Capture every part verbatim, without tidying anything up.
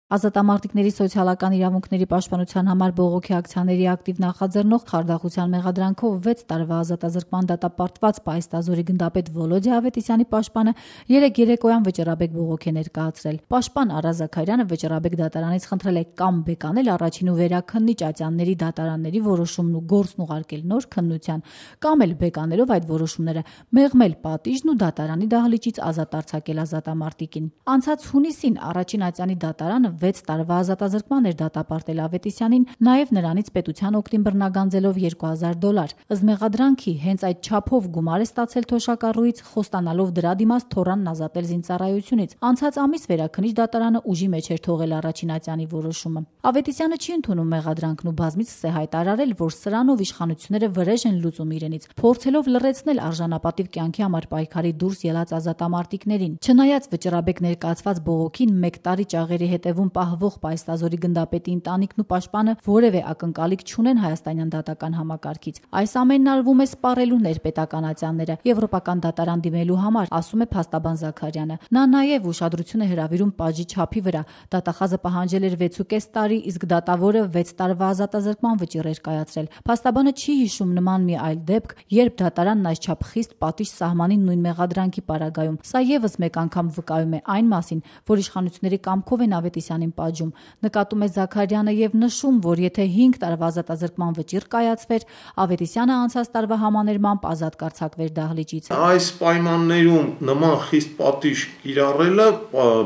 Ազատամարտիկների սոցիալական իրավունքների պաշտպանության համար բողոքի ակցիաների ակտիվ նախաձեռնող Խարդախության մեղադրանքով վեց տարվա ազատազրկման դատապարտված Պայստազորի գնդապետ Վոլոդիա Ավետիսյանի պաշտպանը երեկ երեկոյան վճռաբեկ բողոք է ներկայացրել։ Պաշտպան Արա Զաքարյանը վճռաբեկ դատարանից խնդրել է կամ բեկանել առաջին ու վերաքննիչ ատյանների դատարանների որոշումն ու գործն ուղարկել նոր քննության, կամ էլ բեկանելով այդ որոշումները մեղմել պատիժն ու դատարանի դահլիճից ազատ արձակել ազատամարտիկին։ Անցած հունիսին առաջին ատյանի դատարանը վեց տարվա ազատազրկման էր դատապարտել Ավետիսյանին, նաև նրանից պետության օգտին բռնագանձելով երկու հազար դոլար։ Ըստ մեղադրանքի հենց այդ չափով գումար է ստացել թոշակառուից, խոստանալով դրա դիմաց թորանն ազատել զինծառայությունից։ Անցած ամիս վերաքննիչ դատարանը ուժի մեջ էր թողել առաջին ատյանի որոշումը։ Ավետիսյանը չի ընդունում մեղադրանքն ու բազմիցս է հայտարարել, որ սրանով իշխանությունները վրեժ են լուծում իրենից, փորձելով լռեցնել արժանապատիվ կյանքի համար պայքարի դուրս ելած ազատամարտիկներին։ Չնայած վճռաբեկ ներկայացված բողոքին մեկ տարի ճաղերի հետևում պահվող Պայստազորի գնդապետի ընտանիքն ու պաշտպանը որևէ ակնկալիք չունեն հայաստանյան դատական համակարգից։ Այս ամենն արվում է սպառելու ներպետական ատյանները եվրոպական դատարան դիմելու համար, ասում է փաստաբան Զաքարյանը։ Նա նաև ուշադրություն է հրավիրում պատժի չափի վրա։ Դատախազը պահանջել էր վեցուկես տարի, իսկ դատավորը վեց տարվա ազատազրկման վճիռ էր կայացրել։ Փաստաբանը չի հիշում նման մի այլ դեպք, երբ դատարանն այսչափ խիստ պատիժ սահմանին նույն մեղադրանքի պարագայում։ Սա եւս մեկ անգամ վկայում է այն մասին, որ իշխանությունների կամքով են Ավետիսյանին պատժում։ Նկատում է Զաքարյանը եւ նշում, որ եթե հինգ տարվա ազատազրկման վճիռ կայացվեր, Ավետիսյանը անցած տարվա համաներմամբ ազատ կարձակվեր դահլիճից։ Այս պայմաններում նման խիստ պատիժ կիրառելը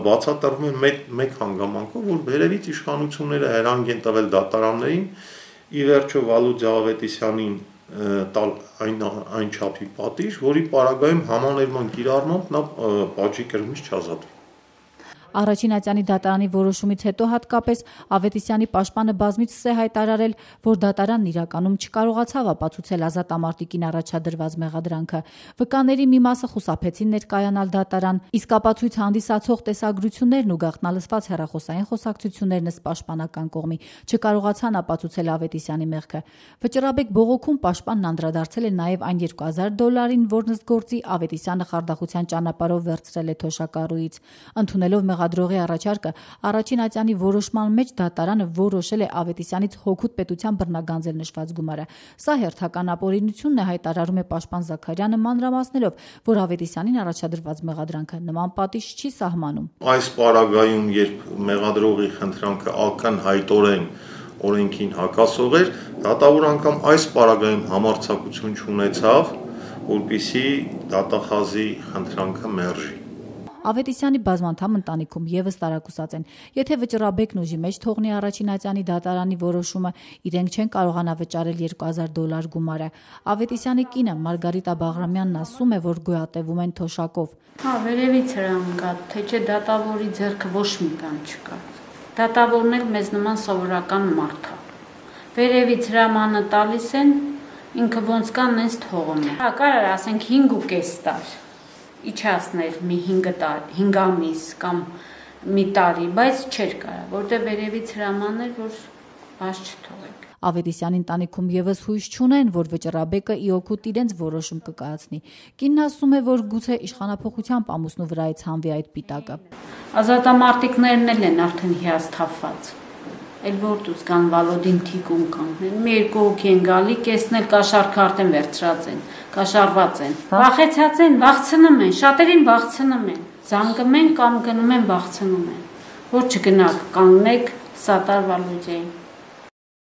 բացատրվում է մեկ, մեկ հանգամանքով, որ վերևից իշխանությունները հրանգ են տվել դատարաններին ի վերջո Վալոդիա Ավետիսյանին տալ այն այն չափի պատիժ, որի պարագայում համաներման կիրառմամբ նա պատժի կրմից չազատվի։ Առաջին ատյանի դատարանի որոշումից հետո հատկապես Ավետիսյանի պաշտպանը բազմիցս է հայտարարել, որ դատարանն իրականում չկարողացավ ապացուցել ազատամարտիկին առաջադրված մեղադրանքը։ Վկաների մի մասը խուսափեցին ներկայանալ դատարան, իսկ ապացույց հանդիսացող տեսագրություններն ու գաղտնալսված հեռախոսային խոսակցություններն ըստ պաշտպանական կողմի չկարողացան ապացուցել Ավետիսյանի մեղքը։ Վճռաբեկ բողոքում պաշտպանն անդրադարձել է նաև այն երկու հազար դոլարին, որն ըստ գործի Ավետիսյանը Խարդախության ճանապարհով վերցրել է թոշակառուից։ Ընդունելով մեղադրողի առաջարկը, առաջին ատյանի որոշման մեջ դատարանը որոշել է Ավետիսյանից հօգուտ պետության բռնագանձել նշված գումարը։ Սա հերթական ապօրինությունն է, հայտարարում է պաշտպան Զաքարյանը, մանրամասնելով, որ Ավետիսյանին առաջադրված մեղադրանքը նման պատիժ չի սահմանում։ Այս պարագայում, երբ մեղադրողի խնդրանքը ակնհայտորեն օրենքին հակասող էր, դատավոր անգամ այս պարագայում համարձակություն չունեցավ, որպեսզի դատախազի խնդրանքը մերժի։ Ավետիսյանի բազմանդամ ընտանիքում եւս տարակուսած են։ Եթե վճռաբեկն ուժի մեջ թողնի առաջին ատյանի դատարանի որոշումը, իրենք չեն կարողանա վճարել երկու հազար դոլար գումարը։ Ավետիսյանի կինը Մարգարիտա Բաղրամյանն ասում է, որ գոյատևում են թոշակով։ Հա, վերևից հրանգա, թե չէ դատավորի ձեռքը ոչ մի բան չկա։ Դատավորն էլ մեզ նման սովորական մարդ է։ Վերևից հրամանը տալիս են, ինքը ոնց կան նենց թողում է։ Հա, կարար ասենք հինգ ու կես տար իջացներ մի հինգ ամիս կամ մի տարի, բայց չէր կարա, որտեղ վերևից հրաման էր, որ բաց չթողեք։ Ավետիսյանի ընտանիքում եւս հույս չունեն, որ վճռաբեկը ի օգուտ իրենց որոշում կկայացնի։ Կինն ասում է, որ գուցե իշխանափոխությամբ ամուսնու վրայից հանվի այդ պիտակը։ Ազատամարտիկներն էլ են արդեն հիասթափված։ Էլ որ դուս կան Վալոդին թիկուն կանգնեն, մի երկու հոգի են գալի, կեսն էլ կաշառքը արդեն վերցրած են, կաշառված են, վախեցած են, վախցնում են, շատերին վախցնում են, զանգում են կամ գնում են վախցնում են, որ չգնաք, կանգնեք Սատար Վալոդիային։